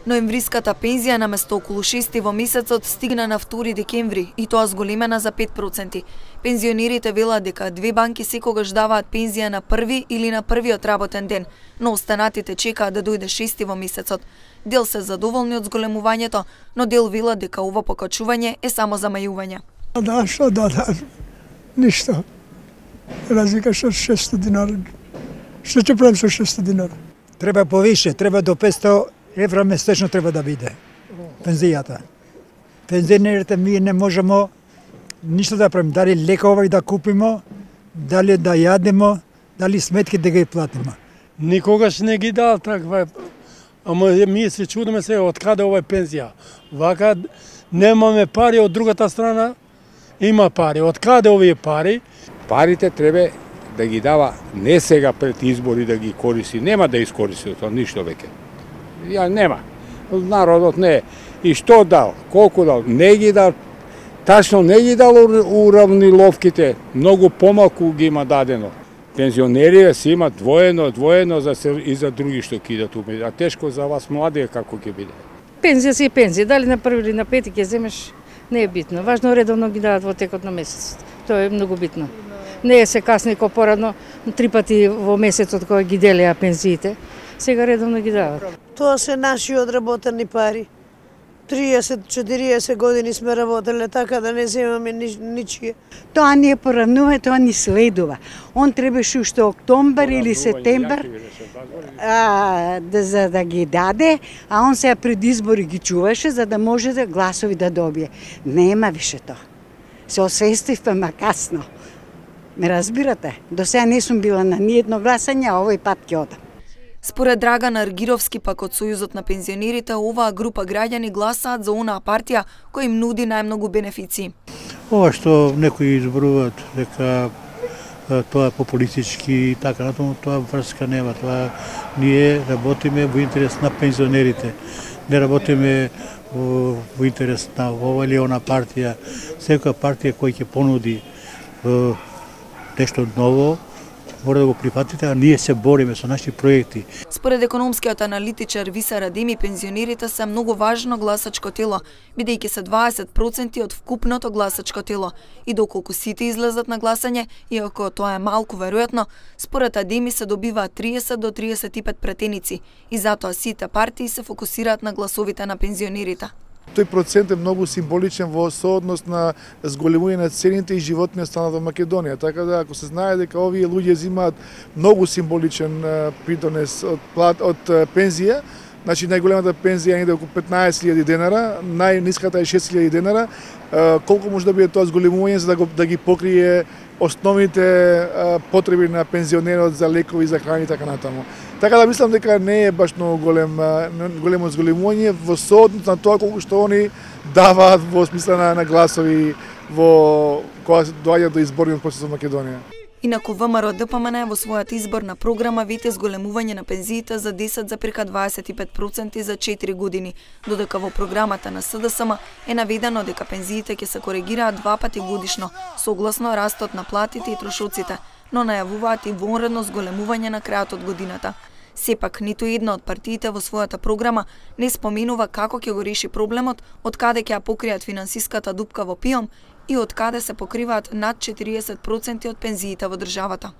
Ноемвриската пензија наместо околу 6 во месецот стигна на 2 декември и тоа зголемена за 5%. Пензионерите велат дека две банки секогаш даваат пензија на први или на првиот работен ден, но останатите чекаат да дојде 6 во месецот. Дел се задоволни од зголемувањето, но дел велат дека ова покачување е само замајување. Да, што да, ништо. Разлика со 600 динари. Што ќе правим со 600 динари? Треба повише, треба до 500 евра месечно треба да биде пензијата. Пензионерите ми не можеме ништо да правиме, дали лекови да купиме, дали да јадеме, дали сметки да ги платиме. Никогаш не ги дал таква, ама ми се чудиме се од каде ова пензија. Вака немаме пари, од другата страна има пари. Од каде овие пари? Парите треба да ги дава не сега пред избори да ги користи, нема да искористи тоа ништо веќе. Ја нема. Народот не. И што дал? Колку дал? Не ги дал. Тачно не ги дал уравниловките. Многу помалку ги има дадено. Пензионерите си имат двоено за се и за други што кидат уме. А тешко за вас млади како ќе биде. Пензија си е пензија. Дали на први или на пети ќе земеш, не е битно. Важно редовно ги дадат во текот на месецот. Тоа е многу битно. Не е се касни ко порадно, 3 пати во месецот кога ги делеа пензиите. Сега редовно ги дават. Тоа се наши одработени пари. 30-40 години сме работеле, така да не земаме ничие. Тоа не е поранува, тоа ни следува. Он требаше уште октомбар или септембар за да ги даде, а он сега пред избори ги чуваше за да може да гласови да добие. Нема више тоа. Се освестивме, ма касно. Ме разбирате? До сега не сум била на ниедно гласање, а овој пат ќе одам. Според Драган Аргировски, пак од Сојузот на пензионерите, оваа група граѓани гласаат за онаа партија која им нуди најмногу бенефиции. Ова што некои изборуваат дека тоа е популистички и така натаму, тоа врска нема. Тоа ние работиме во интерес на пензионерите. Не работиме во интерес на ова или она партија. Секоја партија која ќе понуди нешто ново, мора да го прифатите, а ние се бориме со наши проекти. Според економскиот аналитичар Виса Радими, пензионерите се многу важно гласачко тело, бидејќи се 20% од вкупното гласачко тело. И доколку сите излезат на гласање, иако тоа е малку веројатно, според Адеми се добиваат 30 до 35 претеници и затоа сите партии се фокусираат на гласовите на пензионерите. Тој процент е многу символичен во сооднос на зголемување на цените и животниот стандард во Македонија. Така да, ако се знае дека овие луѓе земаат многу символичен придонес од пензија, значи најголемата пензија е околу 15.000 денара, најниската е 6.000 денара, колку може да биде тоа зголемување за да ги покрие основните потреби на пензионерот за лекови, за храна и така натаму. Така да мислам дека не е баш многу големо зголемување во сооднос на тоа колку што они даваат во смисла на гласови во кога се доаѓа до изборниот процес во Македонија. Инаку ВМРО ДПМН во својата изборна програма вете зголемување на пензиите за 10,25% за 4 години, додека во програмата на СДСМ е наведено дека пензиите ќе се коригираат 2 пати годишно, согласно растот на платите и трошоците, но најавуваат и вонредно зголемување на крајот од годината. Сепак, ниту една од партиите во својата програма не споменува како ќе го реши проблемот, од каде ќе ја покријат финансиската дупка во ПИОМ и од каде се покриваат над 40% од пензиите во државата.